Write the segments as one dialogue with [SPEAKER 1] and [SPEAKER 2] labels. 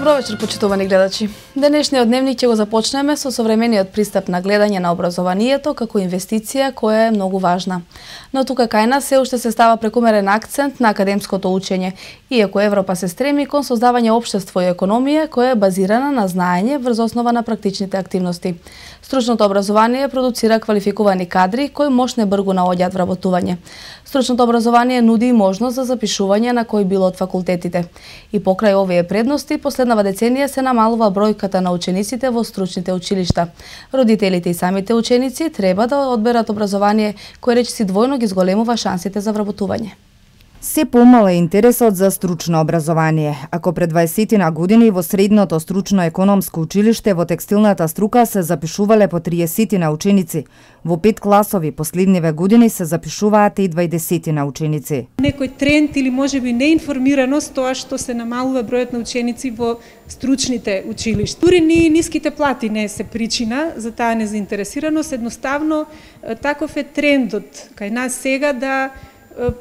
[SPEAKER 1] Добро вечер, почитувани гледачи. Денешниот дневник ќе го започнеме со современиот пристап на гледање на образованието како инвестиција која е многу важна. Но тука кај нас се уште се става прекумерен акцент на академското учење, иако Европа се стреми кон создавање општество и економија која е базирана на знаење врз основа на практичните активности. Стручното образование продуцира квалификувани кадри кои мошне бргу наоѓаат вработување. Стручното образование нуди и можност за запишување на кој било од факултетите. И покрај овие предности, последнава деценија се намалува бројката на учениците во стручните училишта. Родителите и самите ученици треба да одберат образование кој речиси двојно ги зголемува шансите за вработување.
[SPEAKER 2] Се помал е интересот за стручно образование. Ако пред 20 години во средното стручно економско училиште во текстилната струка се запишувале по 30 ученици, во 5 класови последниве години се запишуваат и 20 ученици.
[SPEAKER 3] Некој тренд или можеби неинформираност тоа што се намалува бројот на ученици во стручните училишта. Дури ни ниските плати не се причина за таа незаинтересираност, едноставно таков е трендот кај нас сега да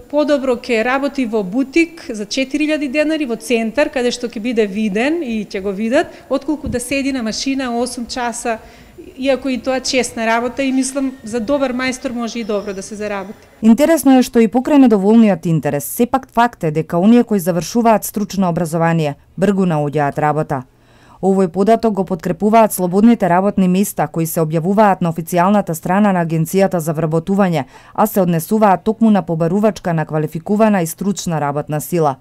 [SPEAKER 3] подобро ќе работи во бутик за 4000 денари во центар, каде што ќе биде виден и ќе го видат, отколку да седи на машина 8 часа, иако и тоа честна работа и мислам за добар мајстор може и добро да се заработи.
[SPEAKER 2] Интересно е што и покрај недоволниот интерес, сепак факт е дека оние кои завршуваат стручно образование бргу наоѓаат работа. Овој податок го подкрепуваат слободните работни места кои се објавуваат на официјалната страна на Агенцијата за вработување, а се однесуваат токму на побарувачка на квалификувана и стручна работна сила.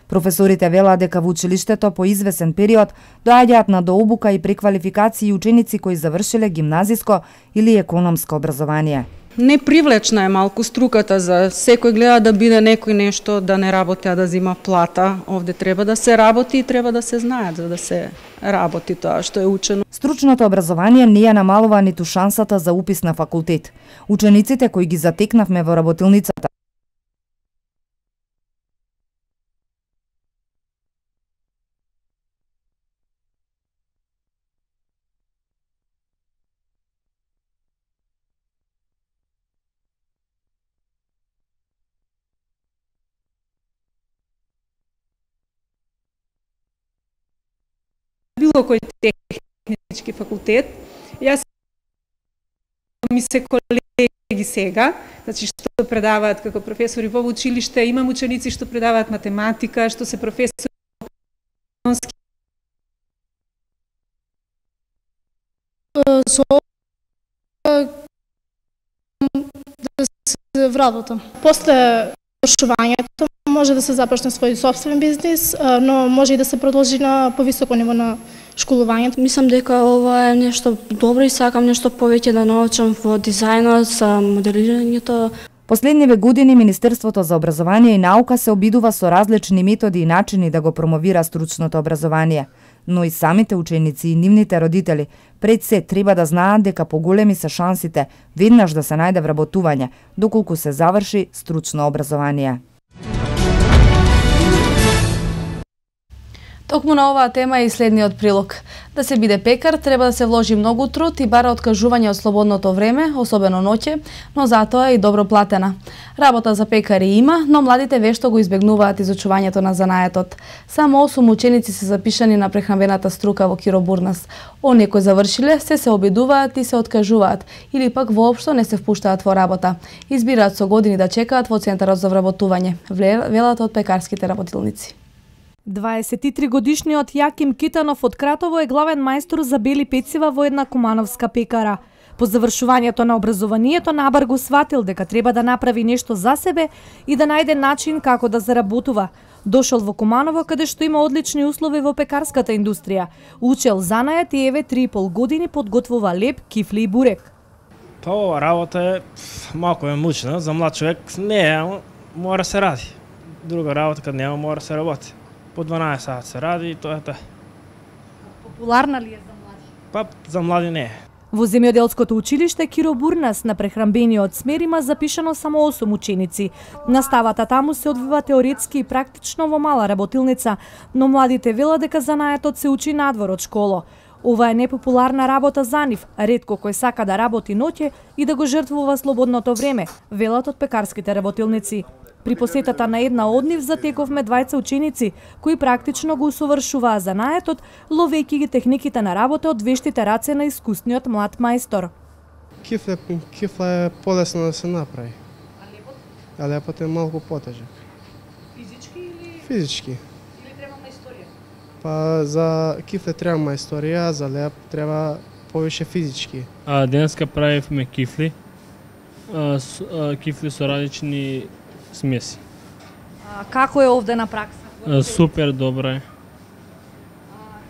[SPEAKER 2] Професорите велат дека во училиштето по извесен период доаѓаат на дообука и преквалификации ученици кои завршиле гимназиско или економско образование.
[SPEAKER 4] Непривлечна е малку струката за секој гледа да биде некој нешто да не работи, а да зима плата. Овде треба да се работи и треба да се знаат за да се работи тоа што е учено.
[SPEAKER 2] Стручното образование не ја намалува ниту шансата за упис на факултет. Учениците кои ги затекнавме во работилницата
[SPEAKER 3] било кој технички факултет. Јас ми се колеги сега, значи што предаваат како професори во училиште, имам ученици што предаваат математика, што се професори
[SPEAKER 5] со да се вработам. После завршувањето може да се започне свој сопствен бизнис, но може и да се продолжи на повисоко ниво на школувањето.
[SPEAKER 6] Мислам дека ова е нешто добро и сакам нешто повеќе да научам во дизајнот, за моделирањето.
[SPEAKER 2] Последниве години Министерството за образование и наука се обидува со различни методи и начини да го промовира стручното образование, но и самите ученици и нивните родители пред се треба да знаат дека поголеми се шансите веднаш да се најде вработување доколку се заврши стручно образование.
[SPEAKER 1] Токму на оваа тема е и следниот прилог. Да се биде пекар треба да се вложи многу труд и бара откажување од слободното време, особено ноќе, но затоа и добро платена. Работа за пекари има, но младите вешто го избегнуваат изучувањето на занаетот. Само 8 ученици се запишани на прехранбената струка во Киро Бурнас. Оние кои завршиле се обидуваат и се откажуваат, или пак воопшто не се впуштаат во работа. Избираат со години да чекаат во центарот за вработување, велат од пекарските работилници.
[SPEAKER 7] 23-годишниот Јаким Китанов од Кратово е главен мајстор за бели пецива во една кумановска пекара. По завршувањето на образованието Набар го сватил дека треба да направи нешто за себе и да најде начин како да заработува. Дошол во Куманово каде што има одлични услови во пекарската индустрија. Учел занает и еве 3,5 години подготвува леп, кифли и бурек.
[SPEAKER 8] Па ова работа е малку е мучна, за млад човек не е, мора се ради. Друга работа кад нема мора се работи. По 12 сати се ради и тоа е тоа.
[SPEAKER 7] Популарна ли е за млади?
[SPEAKER 8] Па за млади не е.
[SPEAKER 7] Во земјоделското училиште Киро Бурнас на прехранбениот смер има запишано само 8 ученици. Наставата таму се одвива теоретски и практично во мала работилница, но младите велат дека занаетот се учи надвор од школа. Ова е непопуларна работа за нив, ретко кој сака да работи ноќе и да го жртвува слободното време, велат од пекарските работилници. При посетата на една од нив затековме двајца ученици кои практично го усовршуваа занаетот, ловејќи ги техниките на работа од вештите раце на искусниот млад мајстор.
[SPEAKER 9] Кифла е полесно да се направи. А лепот е малку потежак.
[SPEAKER 7] Физички или?
[SPEAKER 9] Физички.
[SPEAKER 7] Или треба мајсторија?
[SPEAKER 9] Па за кифле треба мајсторија, за леп треба повише физички.
[SPEAKER 8] Денеска правивме кифли. Кифли со различни смеси.
[SPEAKER 7] Како е овде на пракса?
[SPEAKER 8] Супер добро е.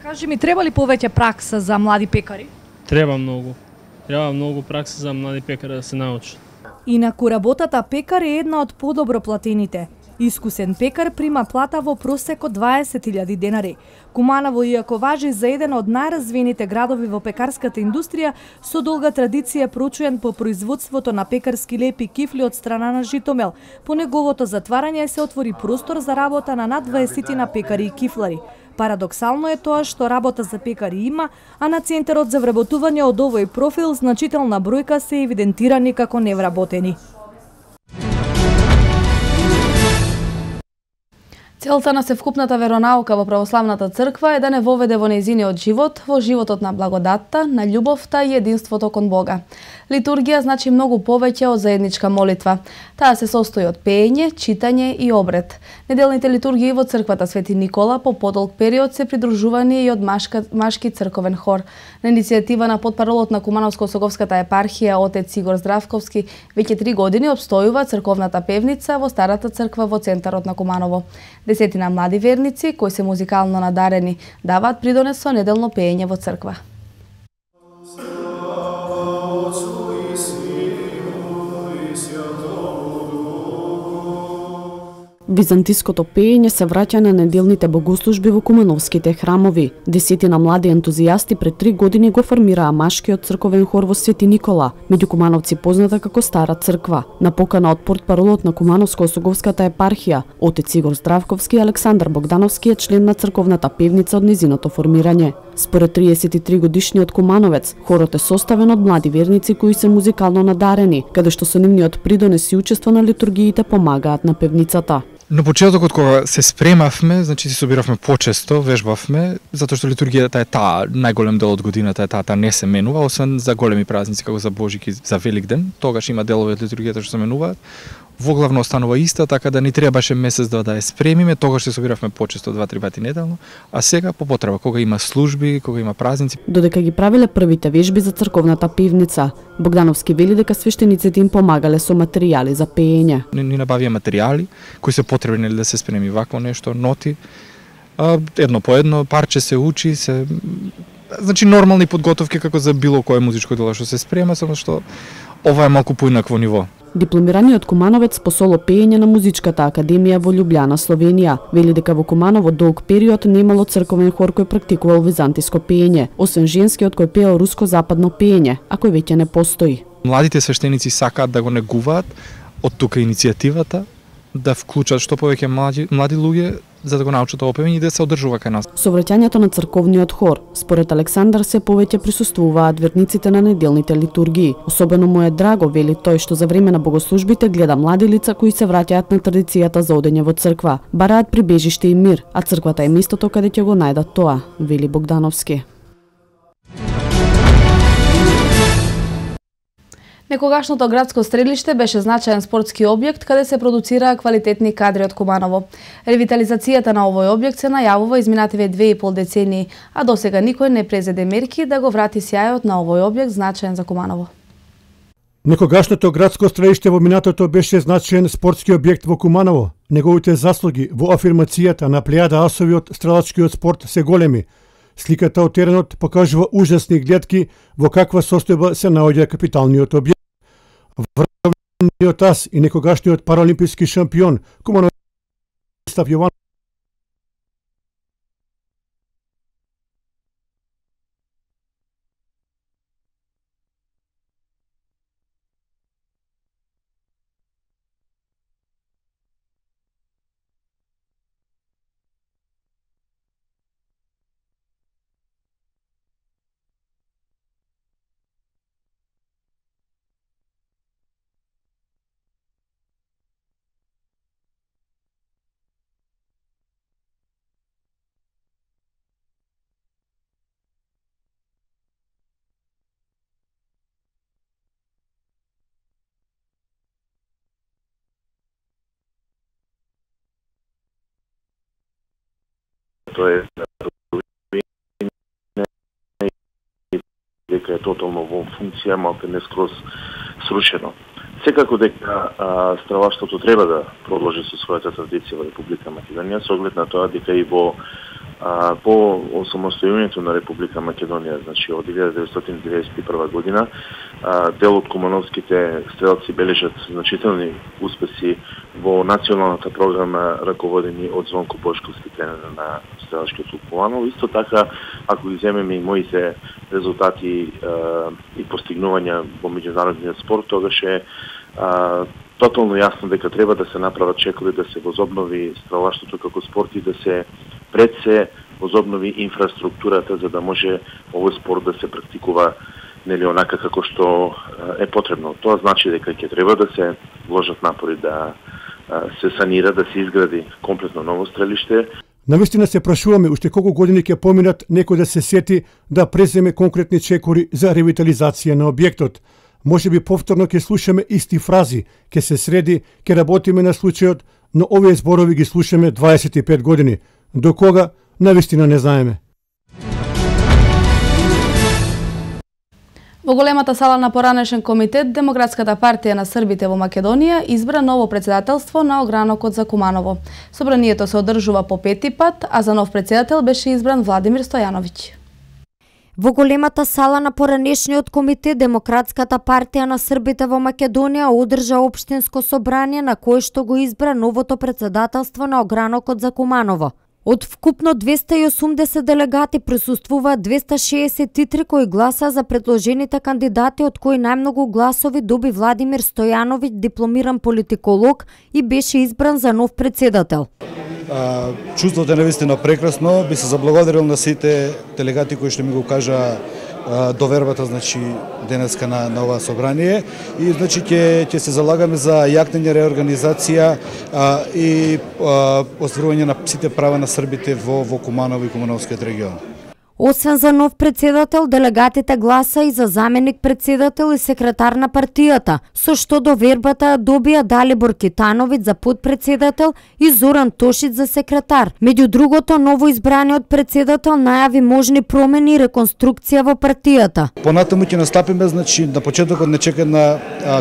[SPEAKER 7] Кажи ми, треба ли повеќе пракса за млади пекари?
[SPEAKER 8] Треба многу. Треба многу пракса за млади пекари да се научат.
[SPEAKER 7] Инаку работата пекар е една од подобро платените. Искусен пекар прима плата во просек од 20.000 денари. Куманово, иако важи за еден од најразвиените градови во пекарската индустрија, со долга традиција проучен по производството на пекарски лепи кифли од страна на Житомел. По неговото затварање се отвори простор за работа на над 20 на пекари и кифлари. Парадоксално е тоа што работа за пекари има, а на Центарот за вработување од овој профил значителна бројка се евидентирани како невработени.
[SPEAKER 1] Целта на севкупната веронаука во православната црква е да не воведе во нејзиниот живот, во животот на благодатта, на љубовта и единството кон Бога. Литургија значи многу повеќе од заедничка молитва. Таа се состои од пеење, читање и обред. Неделните литургии во црквата Свети Никола по подолг период се придружувани и од машки црковен хор. На иницијатива на потпаролот на Кумановско-Осоговската епархија отец Игор Здравковски веќе 3 години обстојува црковната певница во старата црква во центарот на Куманово. Десетина млади верници кои се музикално надарени даваат придонес со неделно пеење во црква.
[SPEAKER 10] Византиското пеење се враќа на неделните богослужби во кумановските храмови. Десетина млади ентузијасти пред 3 години го формираа машкиот црковен хор во Свети Никола, меѓу кумановци позната како Стара црква. На покана од портпаролот на Кумановско-Осоговската епархија, отец Игор Здравковски, Александар Богдановски е член на црковната певница од незиното формирање. Според 33 годишниот кумановец, хорот е составен од млади верници кои се музикално надарени, каде што со нивниот придонес и учество на литургиите помагаат на певницата.
[SPEAKER 11] На почетокот кога се спремавме, значи се собиравме почесто, вежбавме, затоа што литургијата е таа, најголем дел од годината е таа не се менува, освен за големи празници како за Божик и за Великден, тогаш има делови од литургијата што се менуваат. Воглавно останува иста, така да ни требаше месец да ја спремиме, тогаш се собиравме почесто 2-3 пати неделно, а сега по потреба, кога има служби, кога има празници.
[SPEAKER 10] Додека ги правиле првите вежби за црковната певница, Богдановски вели дека свештениците им помагале со материјали за пеење.
[SPEAKER 11] Ни набавија материјали кои се потребни да се спреми вакво нешто, ноти, едно по едно, парче се учи, значи нормални подготовки како за било кое музичко дело што се спрема, само што ова е малку поинакво ниво.
[SPEAKER 10] Дипломираниот кумановец по соло пеење на Музичката академија во Љубљана, Словенија, вели дека во Куманово долг период немало црковен хор кој практикувал византиско пеење, освен женскиот кој пеел руско-западно пеење, а кој веќе не постои.
[SPEAKER 11] Младите свештеници сакаат да го негуваат, од тука иницијативата да вклучат што повеќе млади луѓе за да го научат ова пеење и да се одржува кај нас.
[SPEAKER 10] Со враќањето на црковниот хор, според Александар, се повеќе присуствуваат верниците на неделните литургии. Особено му е драго, вели тој, што за време на богослужбите гледа млади лица кои се враќаат на традицијата за одење во црква, бараат прибежиште и мир, а црквата е местото каде ќе го најдат тоа, вели Богдановски.
[SPEAKER 1] Некогашното градско стрелиште беше значаен спортски објект каде се продуцираа квалитетни кадри од Куманово. Ревитализацијата на овој објект се најавува изминативе 2,5 децении, а досега никој не презеде мерки да го врати сјајот на овој објект значаен за Куманово.
[SPEAKER 12] Некогашното градско стрелиште во минатото беше значаен спортски објект во Куманово. Неговите заслуги во афирмацијата на плејада асови од стрелачкиот спорт се големи. Сликата од теренот покажува ужасни гледки во каква состојба се наоѓа капиталниот објект. Врвниот ас и некогашниот параолимписки шампион Кумановиот Јован
[SPEAKER 13] тоа е дека е тотално во функција, малку не скроз срушено. Секако дека страваштвото треба да продолжи со својата традиција во Република Македонија, со оглед на тоа дека и во по осамостојувањето на Република Македонија, значи од 1991 година, дел од кумановските стрелци бележат значителни успеси во националната програма раководени од Звонко Бошковски, тренер на стрелачкиот клуб Куманово. Исто така, ако ги земеме и моите резултати и постигнувања во меѓународниот спорт, тогаш е тотално јасно дека треба да се направат чекови, да се возобнови стрелаштвото како спорт и да се пред се возобнови инфраструктурата за да може овој спорт да се практикува нели онака како што е потребно. Тоа значи дека ќе треба да се вложат напори да се санира, да се изгради комплетно ново стрелиште.
[SPEAKER 12] Навистина се прашуваме уште колку години ќе поминат некој да се сети да преземе конкретни чекори за ревитализација на објектот. Може би повторно ќе слушаме исти фрази, ќе се среди, ќе работиме на случајот, но овие зборови ги слушаме 25 години. До кога, навистина не знаеме.
[SPEAKER 1] Во големата сала на поранешен комитет, Демократската партија на србите во Македонија избра ново председателство на огранокот за Куманово. Собранието се одржува по пети пат, а за нов председател беше избран Владимир Стојановиќ.
[SPEAKER 14] Во големата сала на поранешниот комитет, Демократската партија на србите во Македонија одржа општинско собрание на кое што го избра новото председателство на огранокот за Куманово. Од вкупно 280 делегати присуствуваат 263 кои гласа за предложените кандидати, од кои најмногу гласови доби Владимир Стојановиќ, дипломиран политиколог, и беше избран за нов председател.
[SPEAKER 15] Чувството е навистина прекрасно. Би се заблагодарил на сите делегати кои што ми го кажа довербата, значи денеска на ова собрание, и значи ќе се залагаме за јакнење реорганизација и остварување на сите права на србите во Куманово и Кумановскиот регион.
[SPEAKER 14] Освен за нов председател, делегатите гласа и за заменик председател и секретар на партијата, со што довербата добија Далибор Китановиќ за подпредседател и Зоран Тошиć за секретар. Меѓу другото, ново избраниот председател најави можни промени и реконструкција во партијата.
[SPEAKER 15] Понатаму ќе настапиме, значи на почетокот не чека на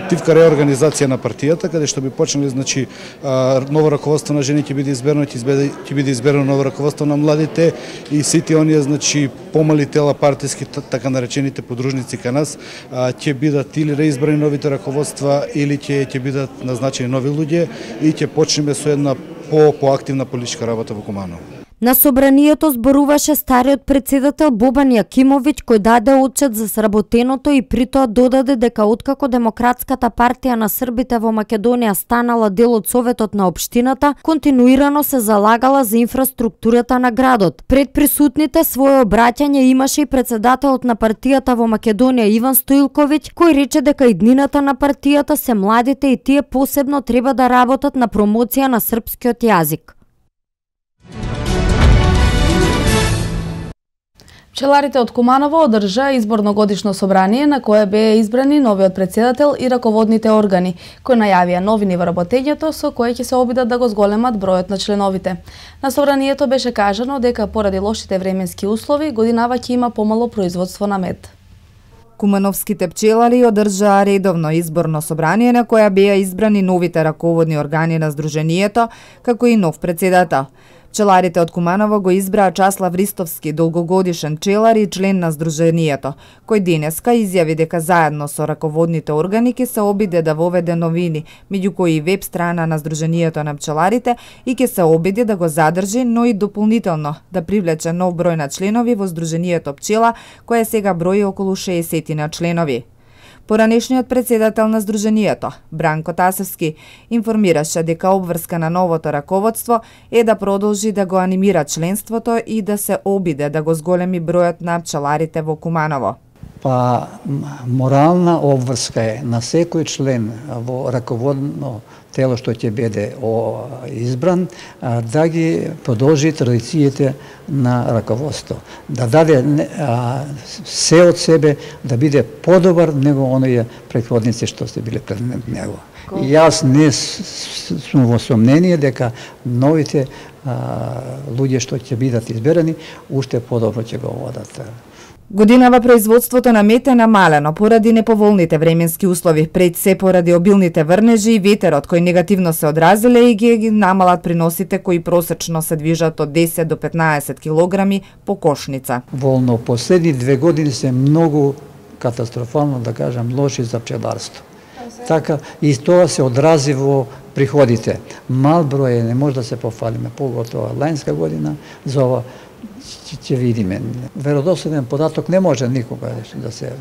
[SPEAKER 15] тивка реорганизација на партијата, каде што би почнали, значи ново раководство на жени ќе биде изберено, ќе биде изберено ново раководство на младите и сите оние, значи помали тела партиски, така наречените подружници кај нас, ќе бидат или реизбрани новите раководства или ќе бидат назначени нови луѓе и ќе почнеме со една поактивна политичка работа во Куманово.
[SPEAKER 14] На собранието зборуваше стариот председател Бобан Јакимовиќ, кој даде отчет за сработеното и при тоа додаде дека откако Демократската партија на србите во Македонија станала дел од Советот на општината, континуирано се залагала за инфраструктурата на градот. Пред присутните свое обраќање имаше и председателот на партијата во Македонија Иван Стоилковиќ, кој рече дека иднината на партијата се младите и тие посебно треба да работат на промоција на српскиот јазик.
[SPEAKER 1] Пчеларите од Куманово одржа изборно годишно собрание на кое беа избрани новиот председател и раководните органи, кои најавија новини во работењето со кое ќе се обидат да го зголемат бројот на членовите. На собранието беше кажано дека поради лошите временски услови годинава ќе има помало производство на мед.
[SPEAKER 2] Кумановските пчелари одржаа редовно изборно собрание на која беа избрани новите раководни органи на Сдруженијето, како и нов председател. Пчеларите од Куманово го избраа Часлав Ристовски, долгогодишен пчелар и член на Сдруженијето, кој денеска изјави дека заедно со раководните органи ќе се обиде да воведе новини, меѓу кои и веб страна на Сдруженијето на пчеларите, и ќе се обиде да го задржи, но и дополнително да привлече нов број на членови во Сдруженијето пчела, кое сега брои околу 60 на членови. Поранешниот председател на Сдруженијето, Бранко Тасевски, информираше дека обврска на новото раководство е да продолжи да го анимира членството и да се обиде да го зголеми бројот на пчеларите во Куманово.
[SPEAKER 16] Па морална обврска е на секој член во раководно тело што ќе биде избран да ги продолжи традициите на раководство, да даде се од себе да биде подобар него оние претходници што се биле пред него. И јас не сум во сомнение дека новите луѓе што ќе бидат изберани уште подобро ќе го водат.
[SPEAKER 2] Годинава производството на мед е намалено поради неповолните временски услови, пред се поради обилните врнежи и ветерот кои негативно се одразиле и ги намалат приносите кои просечно се движат од 10 до 15 килограми по кошница.
[SPEAKER 16] Волно последни 2 години се многу катастрофално, да кажам, лоши за пчеларство. Така и тоа се одрази во приходите. Мал број не може да се пофалиме, поготоа лајнска година за ова ќе видиме. Веродостоен податок не може никога да се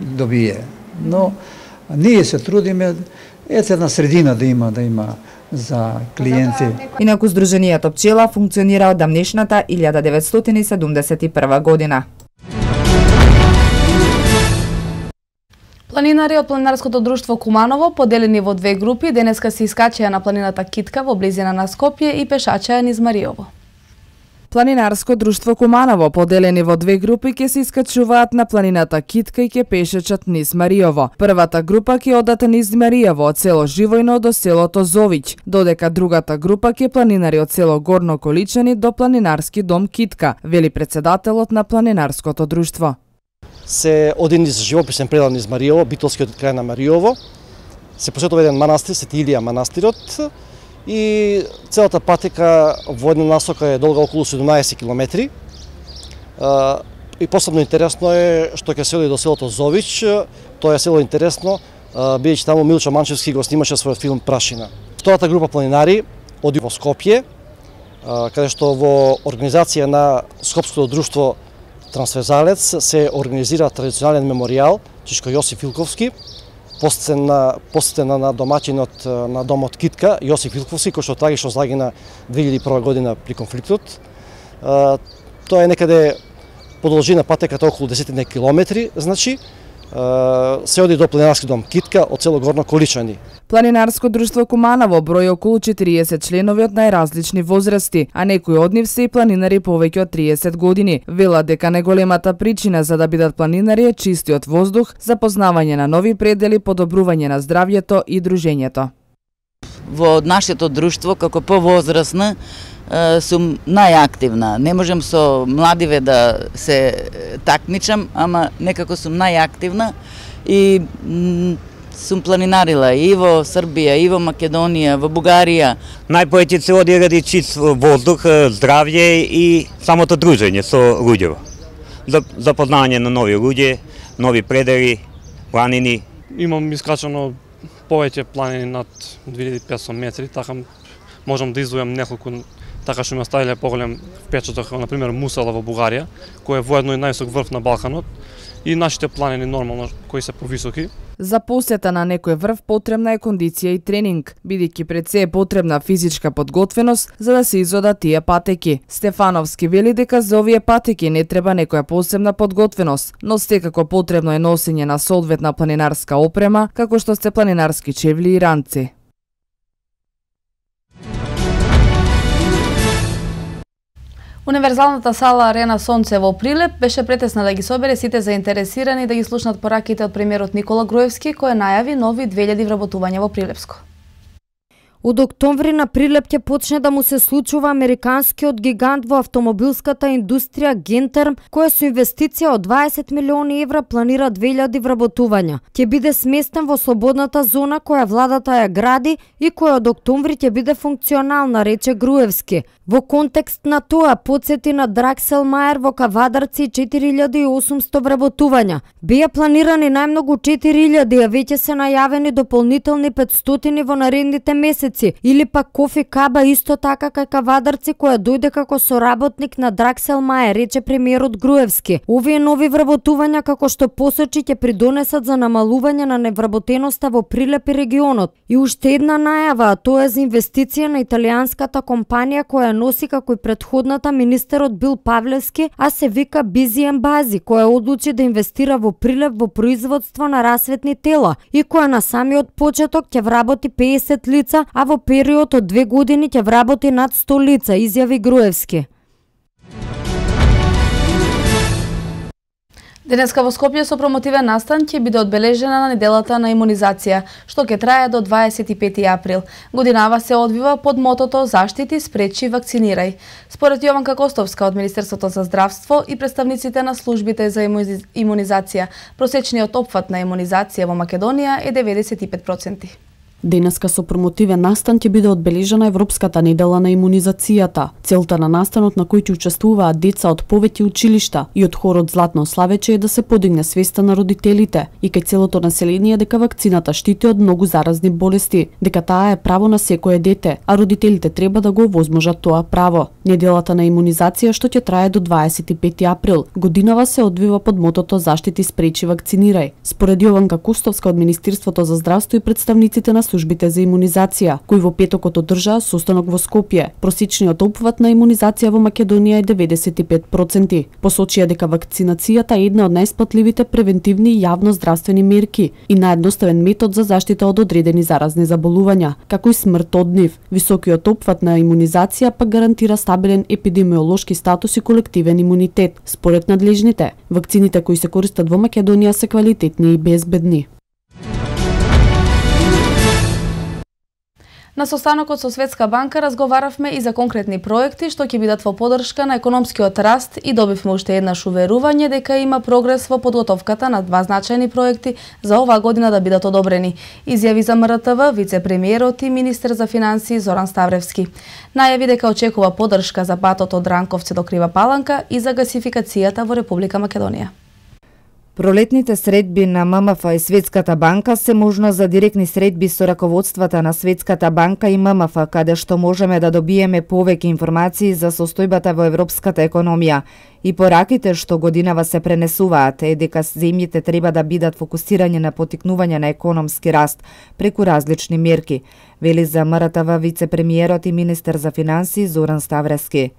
[SPEAKER 16] добие, но ние се трудиме една средина да има за клиенти.
[SPEAKER 2] Инаку Сдруженијето Пчела функционира од давнешната 1971 година.
[SPEAKER 1] Планинари од Планинарското друштво Куманово, поделени во 2 групи, денеска се искачеа на планината Китка во близина на Скопје и пешачеа низ Мариово.
[SPEAKER 17] Планинарско друштво Куманово, поделени во 2 групи, ќе се искачуваат на планината Китка и ќе пешачат низ Мариово. Првата група ќе одат низ Мариово од село Живојно до селото Зовиќ, додека другата група ќе планинари од село Горно Количани до планинарски дом Китка, вели председателот на Планинарското друштво.
[SPEAKER 18] Се оди низ живописен предел низ Мариово, битолскиот крај на Мариово, се посетува еден манастир, Свети Илија манастирот, и целата патека во една насока е долга околу 17 километри. И посебно интересно е што ќе се оди до селото Зовиќ. Тоа е село интересно, бидејќи таму Милчо Манчевски го снимаше својот филм Прашина. Втората група планинари оди во Скопје, каде што во организација на Скопското друштво Трансферзалец се организира традиционален меморијал Чичко Јосиф Вилковски, посетен на домаќинот на домот Китка, Јосиф Вилковски, кој што трагично загина 2001 година при конфликтот. Тоа е некаде подолжина патеката околу 10 километри, значи се оди до планинарски дом Китка од село Горно Количани.
[SPEAKER 17] Планинарско друштво Куманово брои околу 40 членови од најразлични возрасти, а некои од нив се и планинари повеќе од 30 години. Велат дека најголемата причина за да бидат планинари е чистиот воздух, запознавање на нови предели, подобрување на здравјето и дружењето.
[SPEAKER 19] Во нашето друштво, како повозрасна, сум најактивна. Не можам со младиве да се такмичам, ама некако сум најактивна и сум планинарила и во Србија, и во Македонија, во Бугарија.
[SPEAKER 20] Најповеќе се оди ради чист воздух, здравје и самото дружење со луѓето. Запознавање на нови луѓе, нови предели, планини.
[SPEAKER 21] Имам искачано повеќе планини над 2500 метри, така можам да издвојам неколку така што ми оставиле поголем впечаток, на пример Мусала во Бугарија, кој е воедно и највисок врв на Балканот, и нашите планини нормално кои се повисоки.
[SPEAKER 17] За посета на некој врв потребна е кондиција и тренинг, бидејќи пред се е потребна физичка подготвеност за да се изодат тие патеки. Стефановски вели дека за овие патеки не треба некоја посебна подготвеност, но секако потребно е носење на соодветна планинарска опрема, како што се планинарски чевли и ранци.
[SPEAKER 1] Универзалната сала Арена Сонце во Прилеп беше претесна да ги собере сите заинтересирани да ги слушнат пораките од премиерот Никола Груевски, кој најави нови 2000 вработувања во Прилепско.
[SPEAKER 14] Од октомври на Прилеп ќе почне да му се случува американскиот гигант во автомобилската индустрија Гентерм, која со инвестиција од 20 милиони евра планира 2000 вработувања. Ќе биде сместен во слободната зона која владата ја гради и која од октомври ќе биде функционална, рече Груевски. Во контекст на тоа потсети на Драксел Мајер во Кавадарци 4800 вработувања. Беа планирани најмногу 4000, а веќе се најавени дополнителни 500 во наредните месеци. работници, или пак Кофи Каба исто така кај кавадарци која дојде како соработник на Драксел Мајер, рече премиерот Груевски. Овие нови вработувања како што посочи ќе придонесат за намалување на невработеноста во Прилеп и регионот. И уште една најава, а тоа е за инвестиција на италијанската компанија која носи како и предходната министерот Бил Павлевски, а се вика Бизи Ембази, која одлучи да инвестира во Прилеп во производство на расветни тела и која на самиот почеток ќе вработи 50 лица, а во период од 2 години ќе вработи над 100 лица, изјави Груевски.
[SPEAKER 1] Денеска во Скопје со промотивен настан ќе биде одбележена на неделата на имунизација, што ќе трае до 25 април. Годинава се одвива под мотото Заштити, спречи, вакцинирај. Според Јованка Костовска од Министерството за здравство и представниците на службите за имунизација, просечниот опфат на имунизација во Македонија е 95%.
[SPEAKER 10] Денеска со промотивен настан ќе биде одбележена Европската недела на имунизацијата. Целта на настанот на кој ќе учествуваат деца од повеќе училишта и од хорот Златно Славече е да се подигне свеста на родителите и кај целото население дека вакцината штити од многу заразни болести, дека таа е право на секое дете, а родителите треба да го овозможат тоа право. Неделата на имунизација што ќе трае до 25 април, годинава се одвива под мотото Заштити, спречи, вакцинирај. Според Јованка Костовска од Министерството за здравство и представниците на службите за имунизација, кои во петокот одржаа состанок во Скопје. Просечниот опфат на имунизација во Македонија е 95%. Посочија дека вакцинацијата е една од најисплатливите превентивни јавно здравствени мерки и наједноставен метод за заштита од одредени заразни заболувања, како и смрт од нив. Високиот опфат на имунизација пак гарантира стабилен епидемиолошки статус и колективен имунитет. Според надлежните, вакцините кои се користат во Македонија се квалитетни и безбедни.
[SPEAKER 1] На состанокот со Светска банка разговаравме и за конкретни проекти што ќе бидат во подршка на економскиот раст и добивме уште еднаш уверување дека има прогрес во подготовката на 2 значајни проекти за оваа година да бидат одобрени, изјави за МРТВ вице-премиерот и министер за финансии Зоран Ставревски. Најави дека очекува подршка за патот од Ранковце до Крива Паланка и за гасификацијата во Република Македонија.
[SPEAKER 2] Пролетните средби на ММФ и Светската банка се можност за директни средби со раководствата на Светската банка и ММФ, каде што можеме да добиеме повеќе информации за состојбата во европската економија. И пораките што годинава се пренесуваат е дека земјите треба да бидат фокусирање на потикнување на економски раст преку различни мерки, вели за МРТВ вице-премиерот и министер за финансии Зоран Ставревски.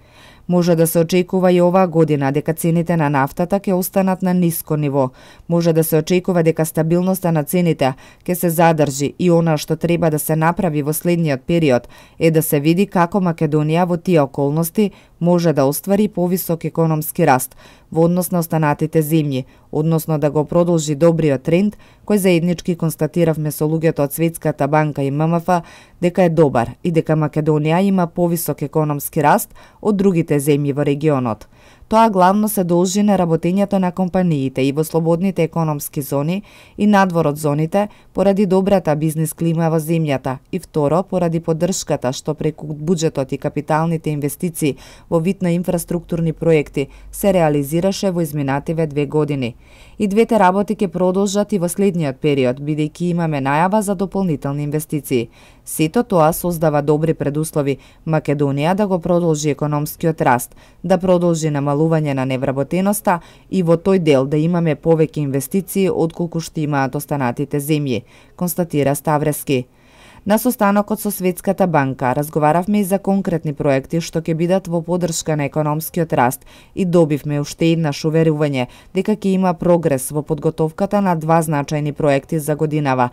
[SPEAKER 2] Може да се очекува и оваа година дека цените на нафтата ќе останат на ниско ниво. Може да се очекува дека стабилноста на цените ќе се задржи и она што треба да се направи во следниот период е да се види како Македонија во тие околности може да оствари повисок економски раст во однос на останатите земји, односно да го продолжи добриот тренд кој заеднички констатиравме со луѓето од Светската банка и ММФ дека е добар и дека Македонија има повисок економски раст од другите земји во регионот. Тоа главно се должи на работењето на компаниите и во слободните економски зони и надвор од зоните поради добрата бизнис клима во земјата и второ поради поддршката што преку буџетот и капиталните инвестиции во вид на инфраструктурни проекти се реализираше во изминативе 2 години. И двете работи ќе продолжат и во следниот период, бидејќи имаме најава за дополнителни инвестиции. Сето тоа создава добри предуслови Македонија да го продолжи економскиот раст, да продолжи намалување на невработеноста и во тој дел да имаме повеќе инвестиции отколку што имаат останатите земји, констатира Ставревски. На состанокот со Светската банка разговаравме и за конкретни проекти што ќе бидат во поддршка на економскиот раст и добивме уште еднаш уверување дека ќе има прогрес во подготовката на 2 значајни проекти за годинава.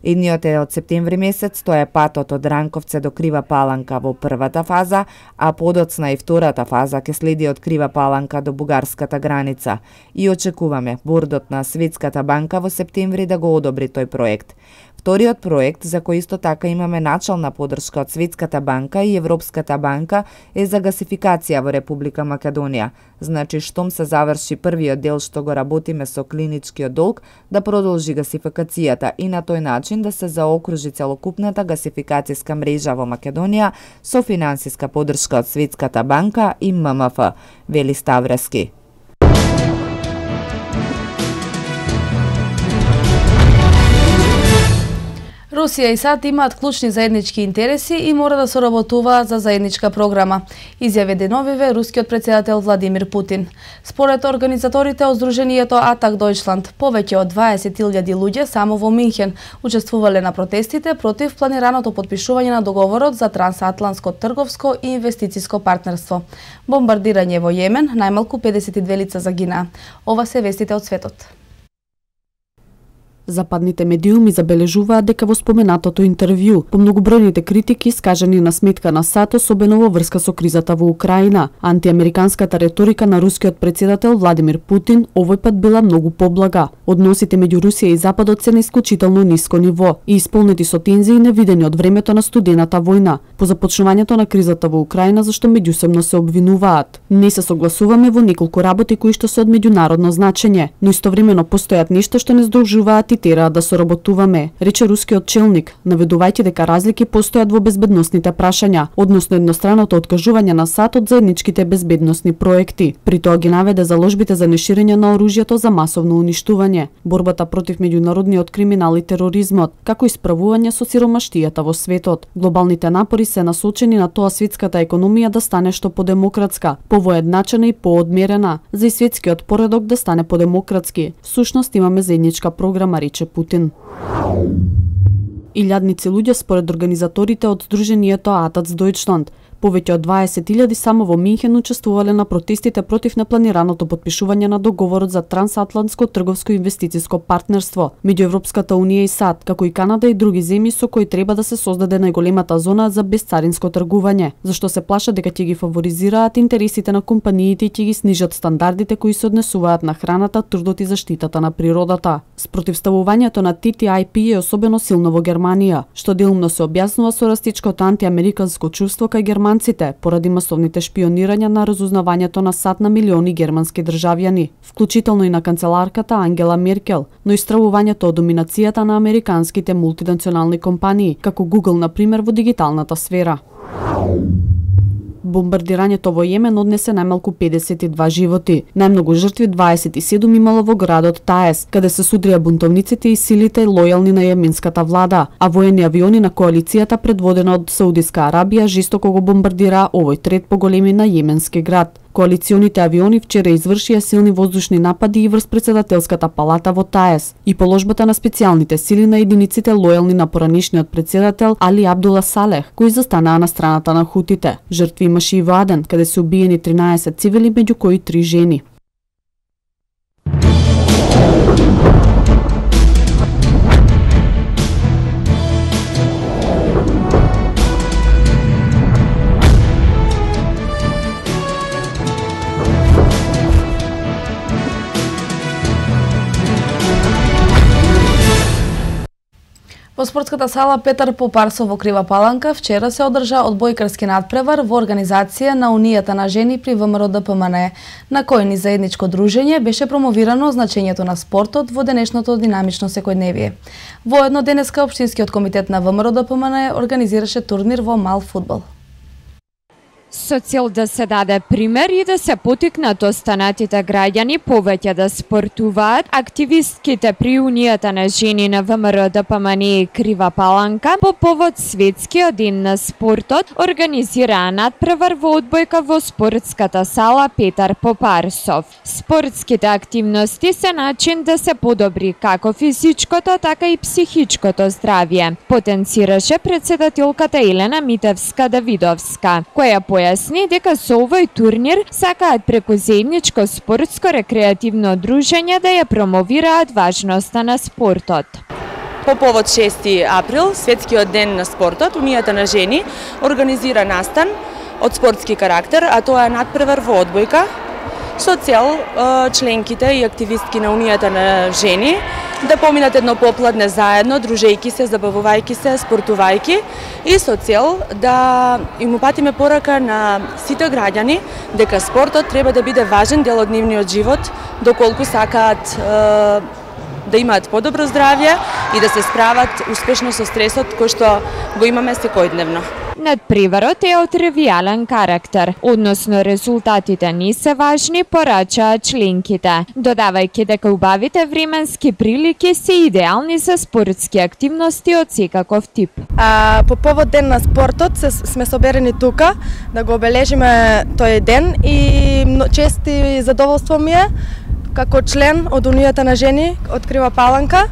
[SPEAKER 2] Едниот е од септември месец, тоа е патот од Ранковце до Крива Паланка во првата фаза, а подоцна и втората фаза ќе следи од Крива Паланка до бугарската граница. И очекуваме бордот на Светската банка во септември да го одобри тој проект. Вториот проект, за кој исто така имаме начална поддршка од Светската банка и Европската банка, е за гасификација во Република Македонија. Значи, штом се заврши првиот дел што го работиме со клиничкиот долг, да продолжи гасификацијата и на тој начин да се заокружи целокупната гасификацијска мрежа во Македонија со финансиска поддршка од Светската банка и ММФ, вели Ставревски.
[SPEAKER 1] Русија и САД имаат клучни заеднички интереси и мора да соработуваат за заедничка програма, изјави деновиве рускиот претседател Владимир Путин. Според организаторите од Сдруженијето Атак Дојчланд, повеќе од 20.000 луѓе само во Минхен учествувале на протестите против планираното потпишување на договорот за трансатлантско трговско и инвестициско партнерство. Бомбардирање во Јемен, најмалку 52 лица загинаа. Ова се вестите од светот.
[SPEAKER 10] Западните медиуми забележуваат дека во споменатото интервју, по многобројните критики искажани на сметка на САД, особено во врска со кризата во Украина, антиамериканската реторика на рускиот претседател Владимир Путин овој пат била многу поблага. Односите меѓу Русија и Западот се на исклучително ниско ниво и исполнети со тензии невидени од времето на студената војна, по започнувањето на кризата во Украина, зашто меѓусебно се обвинуваат. Не се согласуваме во неколку работи кои што се од меѓународно значење, но истовремено постојат нешта што не здружуваат и тераат да соработуваме, рече рускиот челник, наведувајќи дека разлики постојат во безбедносните прашања, односно едностраното откажување на САД од заедничките безбедносни проекти. При тоа ги наведе заложбите за неширење на оружјето за масовно уништување, борбата против меѓународниот криминал и тероризмот, како и справување со сиромаштијата во светот. Глобалните напори се насочени на тоа светската економија да стане што подемократска, повоедначена и поодмерена, за и светскиот поредок да стане подемократски. Всушност имаме заедничка програма, рече Путин. Илјадници луѓе според организаторите од Сдруженијето Атак Дојчланд, повеќе од 20.000 само во Минхен учествувале на протестите против непланираното потпишување на договорот за трансатлантско трговско и инвестициско партнерство меѓу Европската унија и САД, како и Канада и други земји со кои треба да се создаде најголемата зона за безцаринско тргување, зашто се плашат дека ќе ги фаворизираат интересите на компаниите и ќе ги снижат стандардите кои се однесуваат на храната, трудот и заштитата на природата. Спротивставувањето на TTIP е особено силно во Германија, што делумно се објаснува со растичкото антиамериканско чувство кај германците поради масовните шпионирања на разузнавањето на САД на милиони германски државјани, вклучително и на канцеларката Ангела Меркел, но и стравувањето од доминацијата на американските мултинационални компании, како Google, например, во дигиталната сфера. Бомбардирањето во Јемен однесе најмалку 52 животи. Најмногу жртви 27 имало во градот Таес, каде се судрија бунтовниците и силите лојални на јеменската влада, а воени авиони на коалицијата предводена од Саудиска Арабија жестоко го бомбардираа овој трет по големина јеменски град. Коалиционите авиони вчера извршија силни воздушни напади и врз претседателската палата во Таес и положбата на специјалните сили на единиците лојални на поранишниот претседател Али Абдула Салех, кои застанаа на страната на хутите. Жртви имаше и во Аден, каде се убиени 13 цивили, меѓу кои 3 жени.
[SPEAKER 1] Во спортската сала Петар Попарсов во Крива Паланка вчера се одржа одбојкарски надпревар во организација на Унијата на жени при ВМРО ДПМН, на кој ни заедничко дружење беше промовирано значењето на спортот во денешното динамично секојдневие. Воедно денеска Општинскиот комитет на ВМРО ДПМН организираше турнир во мал фудбал.
[SPEAKER 4] Со цел да се даде пример и да се потикнат останатите граѓани повеќе да спортуваат, активистките при Унијата на жени на ВМРО ДПМН Крива Паланка по повод Светскиот ден на спортот организираа надпревар во одбојка во спортската сала Петар Попарсов. Спортските активности се начин да се подобри како физичкото, така и психичкото здравје, потенцираше претседателката Елена Митевска-Давидовска, која појасни дека со овој турнир сакаат преку заедничко спортско-рекреативно дружење да ја промовираат важноста на спортот.
[SPEAKER 22] По повод 6 април, Светскиот ден на спортот, Унијата на жени организира настан од спортски карактер, а тоа е надпревар во одбојка, со цел членките и активистки на Унијата на жени да поминат едно попладне заедно, дружејки се, забавувајки се, спортувајки и со цел да им упатиме порака на сите граѓани дека спортот треба да биде важен дел од нивниот живот, доколку сакаат да имаат подобро здравје и да се справат успешно со стресот кој што го имаме секојдневно.
[SPEAKER 4] Надпреварот е од тривијален карактер, односно резултатите не се важни, порачаат членките, додавајќи дека убавите временски прилики се идеални за спортски активности од секаков тип.
[SPEAKER 3] По повод ден на спортот сме соберени тука да го обележиме тој ден и чест и задоволство ми е како член од Унијата на жени од Крива Паланка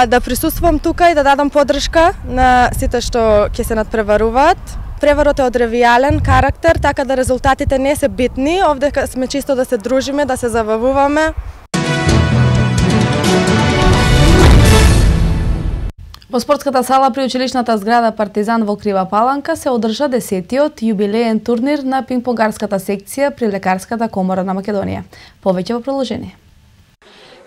[SPEAKER 3] да присуствувам тука и да дадам поддршка на сите што ќе се надпреваруваат. Преварот е од ревијален карактер, така да резултатите не се битни. Овде сме чисто да се дружиме, да се забавуваме.
[SPEAKER 1] Во спортската сала при училишната зграда Партизан во Крива Паланка се одржа 10-тиот јубилеен турнир на пингпонгарската секција при Лекарската комора на Македонија. Повеќе во приложение.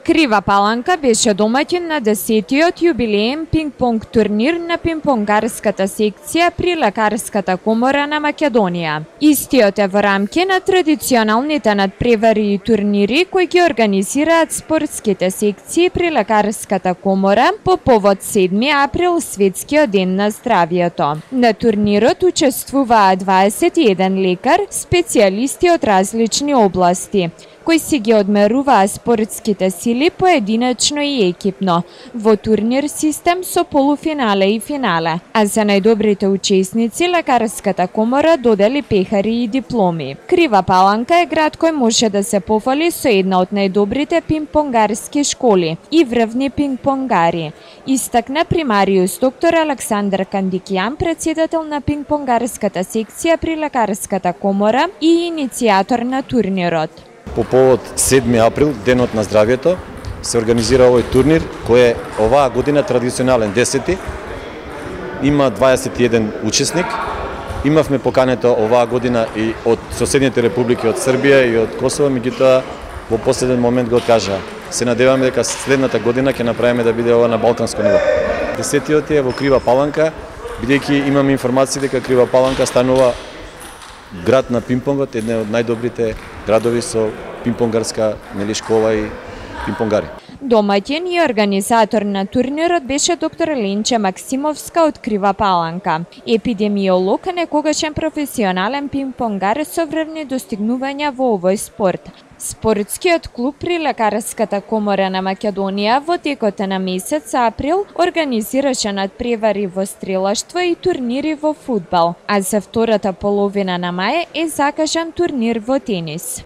[SPEAKER 4] Крива Паланка беше домаќин на 10-тиот јубилеен пинг-понг турнир на пинг-понгарската секција при Лекарската комора на Македонија. Истиот е во рамки на традиционалните надпревари и турнири кои ги организираат спортските секции при Лекарската комора по повод 7 април Светскиот ден на здравјето. На турнирот учествуваат 21 лекар, специјалисти од различни области, кои си ги одмеруваа спортските сили поединечно и екипно, во турнир систем со полуфинале и финале. А за најдобрите учесници Лекарската комора додели пехари и дипломи. Крива Паланка е град кој може да се пофали со една од најдобрите пинг-понгарски школи и врвни пинг-понгари, истакна примариус доктор Александар Кандикјан, председател на пинг-понгарската секција при Лекарската комора и иницијатор на турнирот.
[SPEAKER 5] По повод 7 април, денот на здравјето, се организира овој турнир, кој е оваа година традиционален 10-ти. Има 21 учесник. Имавме покането оваа година и од соседните републики, од Србија и од Косово, меѓутоа во последен момент го откажаа. Се надеваме дека следната година ќе направиме да биде ова на балканско ниво. 10-тиот е во Крива Паланка, бидејќи имаме информации дека Крива Паланка станува град на пинг-понгот, еден од најдобрите градови со пинг-понгарска школа и пинг-понгари.
[SPEAKER 4] Домаќин и организатор на турнирот беше доктор Ленче Максимовска од Крива Паланка. Епидемиолог, некогашен професионален пинг-понгар со врвни достигнувања во овој спорт. Спортскиот клуб при Лекарската комора на Македонија во текот на месец април организираше надпревари во стрелаштво и турнири во фудбал, а за втората половина на мај е закажан турнир во тенис.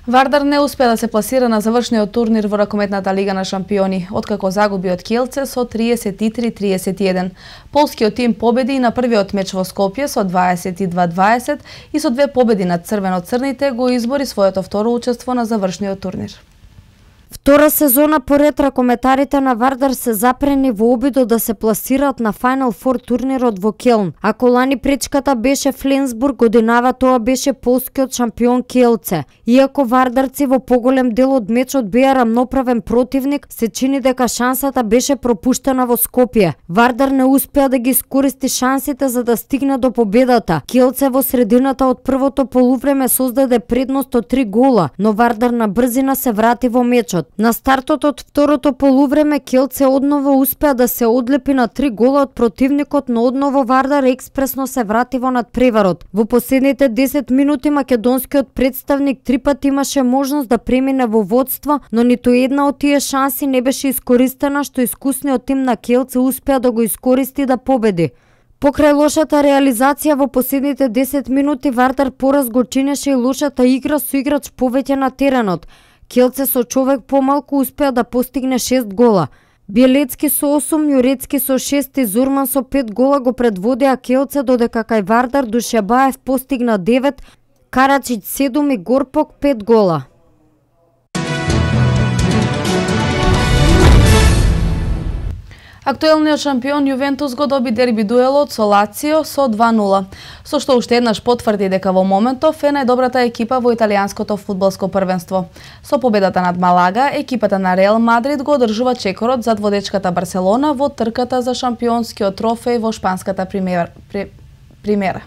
[SPEAKER 1] Вардар не успеа да се пласира на завршниот турнир во ракометната лига на шампиони, откако загуби од Киелце со 33-31. Полскиот тим победи на првиот меч во Скопје со 22-20 и со 2 победи над црвено-црните го избори своето второ учество на завршниот турнир.
[SPEAKER 14] Втора сезона поред ракометарите на Вардар се запрени во обидот да се пласираат на Final Four турнирот во Келн. Ако лани пречката беше Фленсбург, годинава тоа беше полскиот шампион Киелце. Иако вардарци во поголем дел од мечот беа рамноправен противник, се чини дека шансата беше пропуштена во Скопје. Вардар не успеа да ги искористи шансите за да стигне до победата. Киелце во средината од првото полувреме создаде предност од 3 гола, но Вардар на брзина се врати во мечот. На стартот од второто полувреме Киелце одново успеа да се одлепи на 3 гола од противникот, но одново Вардар експресно се врати во надпреварот. Во последните 10 минути македонскиот представник 3 пати имаше можност да премине во водство, но ниту една од тие шанси не беше искористена, што искусниот тим на Киелце успеа да го искористи да победи. Покрај лошата реализација во последните 10 минути Вардар пораз го чинеше и лошата игра со играч повеќе на теренот. Киелце со човек помалку успеа да постигне 6 гола. Биелецки со 8, Јурецки со 6 и Зурман со 5 гола го предводеа Киелце, додека кај Вардар Душебаев постигна 9, Карачич 7 и Горпок 5 гола.
[SPEAKER 1] Актуелниот шампион Јувентус го доби дерби дуелот со Лацио со 2-0, со што уште еднаш потврди дека во моментов е најдобрата екипа во италијанското фудбалско првенство. Со победата над Малага, екипата на Реал Мадрид го одржува чекорот зад водечката Барселона во трката за шампионскиот трофеј во шпанската примера.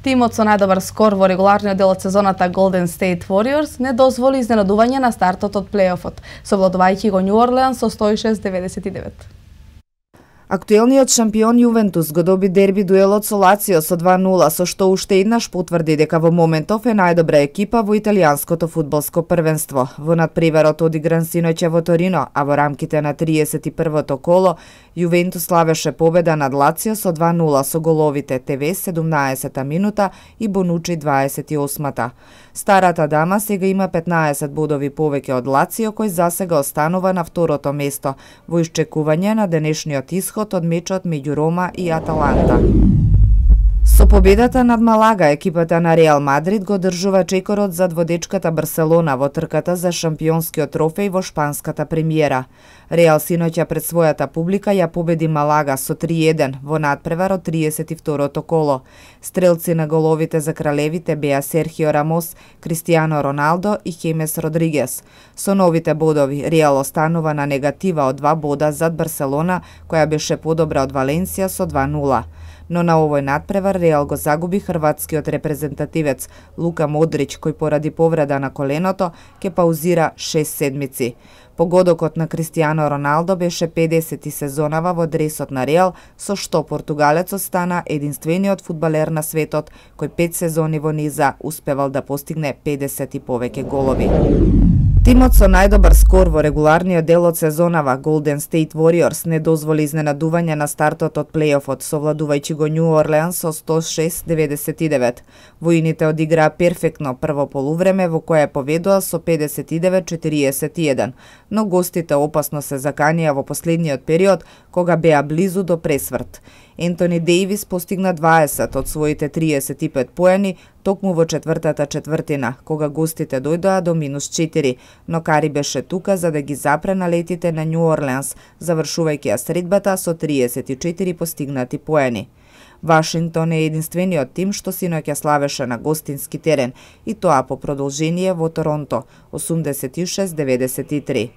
[SPEAKER 1] Тимот со најдобар скор во регуларниот дел од сезоната Golden State Warriors не дозволи изненадување на стартот од плейофот, совладувајќи го Нью Орлеанс со 106-99.
[SPEAKER 2] Актуелниот шампион Јувентус го доби дерби дуелот со Лацио со 2-0, со што уште еднаш потврди дека во моментов е најдобра екипа во италијанското фудбалско првенство. Во надпреварот одигран синоќа во Торино, а во рамките на 31-то коло, Јувентус славеше победа над Лацио со 2-0 со головите Тевес 17-та минута и Бонучи 28-та. Старата дама сега има 15 бодови повеќе од Лацио, кој засега останува на второто место, во исчекување на денешниот исход од мечот меѓу Рома и Аталанта. Со победата над Малага, екипата на Реал Мадрид го држува чекорот зад водечката Барселона во трката за шампионскиот трофеј во шпанската премиера. Реал синоќа пред својата публика ја победи Малага со 3-1 во надпревар од 32-то коло. Стрелци на головите за кралевите беа Серхио Рамос, Кристијано Роналдо и Хемес Родригес. Со новите бодови, Реал останува на негатива од 2 бода зад Барселона, која беше подобра од Валенсија со 2-0. Но на овој надпревар Реал го загуби хрватскиот репрезентативец Лука Модрич, кој поради повреда на коленото ќе паузира 6 седмици. Погодокот на Кристијано Роналдо беше 50 сезонава во дресот на Реал, со што португалецот стана единствениот фудбалер на светот кој 5 сезони во низа успевал да постигне 50 и повеќе голови. Тимот со најдобар скор во регуларниот дел од сезонава Golden State Warriors не дозволи изненадување на стартот од плейофот, совладувајќи го Нью Орлеанс со 106-99. Воините одиграа перфектно прво полувреме во кое победоа со 59-41, но гостите опасно се заканија во последниот период, кога беа близу до пресврт. Ентони Дејвис постигна 20 од своите 35 поени токму во четвртата четвртина, кога гостите дојдоа до -4, но Кари беше тука за да ги запре налетите на Нью Орлеанс, завршувајќи ја средбата со 34 постигнати поени. Вашингтон е единствениот тим што синоќа славеше на гостински терен, и тоа по продолжение во Торонто, 86-93.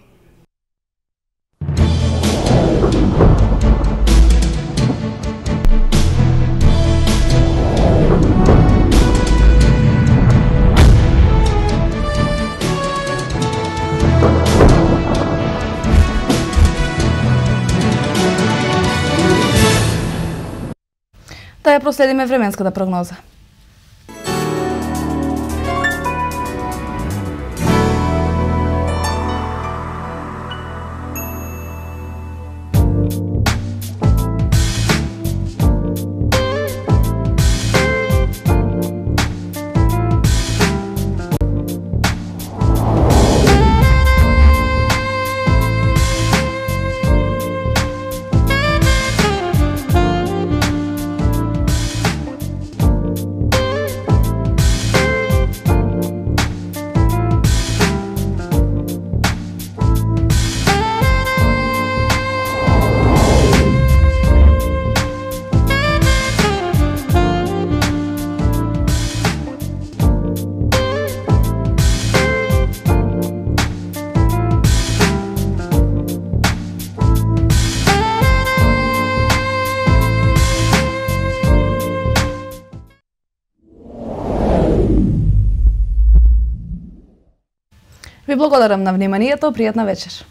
[SPEAKER 1] Да ја проследиме временската прогноза. Ви благодарам на вниманието, пријатна вечер.